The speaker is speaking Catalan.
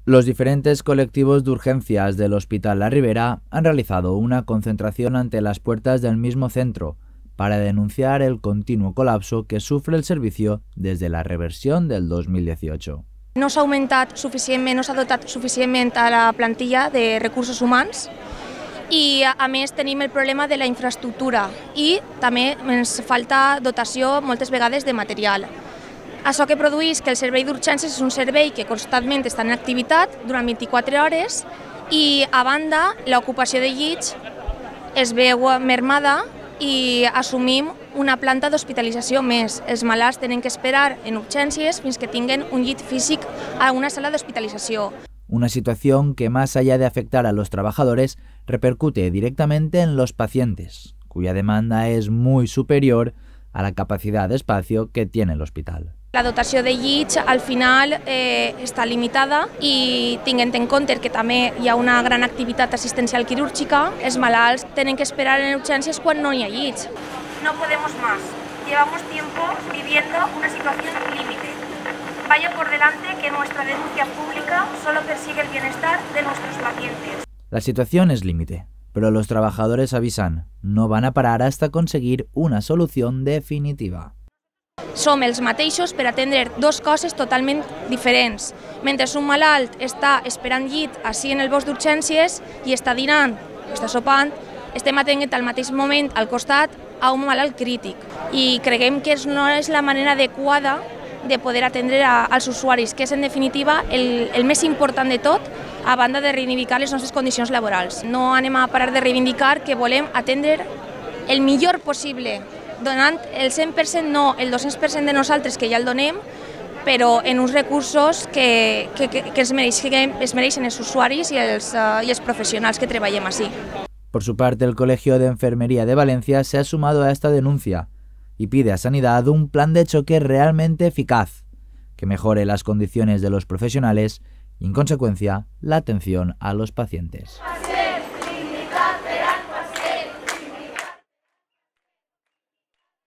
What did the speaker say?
Los diferentes colectivos de urgencias del Hospital La Ribera han realizado una concentración ante las puertas del mismo centro para denunciar el continuo colapso que sufre el servicio desde la reversión del 2018. No s'ha augmentat suficientment, no s'ha dotat suficientment a la plantilla de recursos humans i a més tenim el problema de la infraestructura i també ens falta dotació moltes vegades de material. Això que produeix que el servei d'urgències és un servei que constantment està en activitat durant 24 hores i, a banda, l'ocupació de llits es veu mermada i assumim una planta d'hospitalització més. Els malalts tenen que esperar en urgències fins que tinguen un llit físic a una sala d'hospitalització. Una situación que, más allá de afectar a los trabajadores, repercute directamente en los pacientes, cuya demanda es muy superior a la capacidad de espacio que tiene el hospital. La dotació de llits al final està limitada i tinguent en compte que també hi ha una gran activitat assistencial quirúrgica, els malalts tenen que esperar en urgències quan no hi ha llits. No podemos más. Llevamos tiempo viviendo una situación límite. Vaya por delante que nuestra denuncia pública solo persigue el bienestar de nuestros pacientes. La situación es límite, pero los trabajadores avisan, no van a parar hasta conseguir una solución definitiva. Som els mateixos per atendre dues coses totalment diferents. Mentre un malalt està esperant llit així en el bosc d'urgències i està dinant, està sopant, estem atenent al mateix moment al costat a un malalt crític. I creiem que no és la manera adequada de poder atendre als usuaris, que és en definitiva el més important de tot, a banda de reivindicar les nostres condicions laborals. No anem a parar de reivindicar que volem atendre el millor possible, donant el 100%, no el 200% de nosaltres, que ja el donem, però en uns recursos que es mereixen els usuaris i els professionals que treballem així. Por su parte, el Colegio de Enfermería de Valencia se ha sumado a esta denuncia y pide a Sanidad un plan de choque realmente eficaz, que mejore las condiciones de los profesionales y, en consecuencia, la atención a los pacientes.